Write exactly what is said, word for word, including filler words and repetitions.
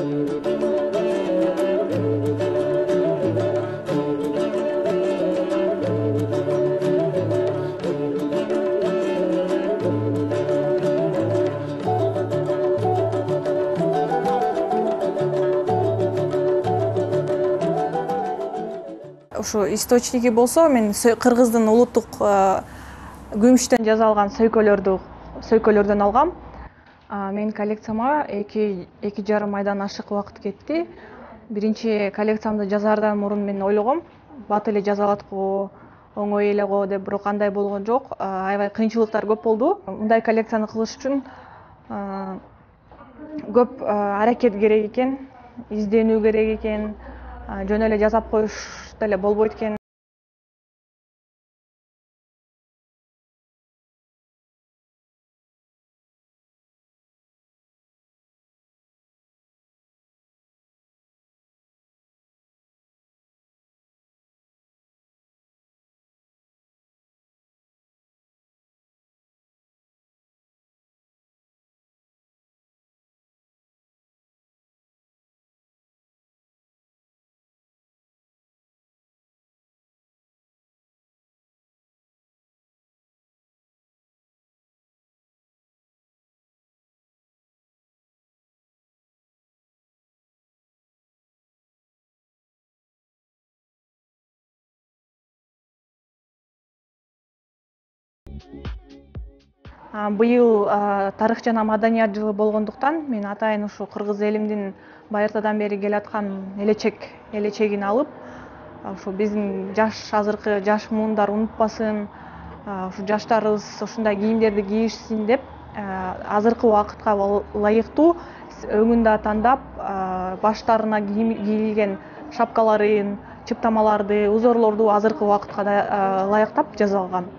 Ушу источники болсо, мен Кыргыздын улуттук күмүштөн жасалган сөйкөлөрдү сөйкөлөрдөн алгам. Менин коллекцияма эки эки жарым айдан ашык убакыт кетти. Биринчи коллекциямды жазаардан мурун мен ойлогом, бат эле жаза алат го, оңой эле го деп, бирок андай болгон жок. Аябай кыйынчылыктар көп болду. Мындай коллекцияны кылыш үчүн көп аракет керек экен, изденүү керек экен, жөн эле жасап коюш деле болбойт экен. Быйыл тарых жана маданият жылы болгондуктан мен атайын ушу кыргыз элимдин байыртадан бери келаткан элечек элечегин алып, ушу биздин жаш азыркы жаш муундар унутпасын, ушу жаштарыбыз ушундай кийимдерди кийишсин деп, азыркы убакытка ылайыктуу өңүн да тандап, баштарына кийилген шапкаларын, чыптамаларды, узорлорду азыркы убакытка ылайыктап жасалган.